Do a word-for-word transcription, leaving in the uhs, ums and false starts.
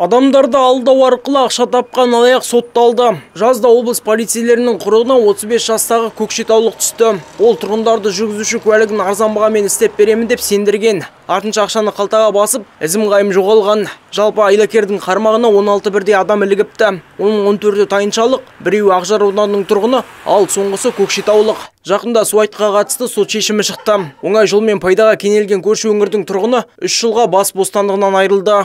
Адамдарды алдоо аркылуу акча тапкан алаяк сотталды. Жазда облус полицейлеринин курулуна отуз беш жаштагы көкшетаулук түстү. Ол тургундарды жүргүзүүчү куәлигин арзан бага менен издеп беремин деп сендирген. Артынча акчаны калтага басып, изим кайым жоголган. Жалпы айлакердин кармагына он алты бирдей адам илигипти. Онун он төртү тайынчалык, бирөө Ак Жар ауданынын тургуну, ал соңгусу көкшетаулук. Жакында Суайтка катысты сот чечими чыкты. Оңай жол менен пайдага кенелген көршү өңүрдүн тургуну үч жылга бас бостандыгынан айрылды.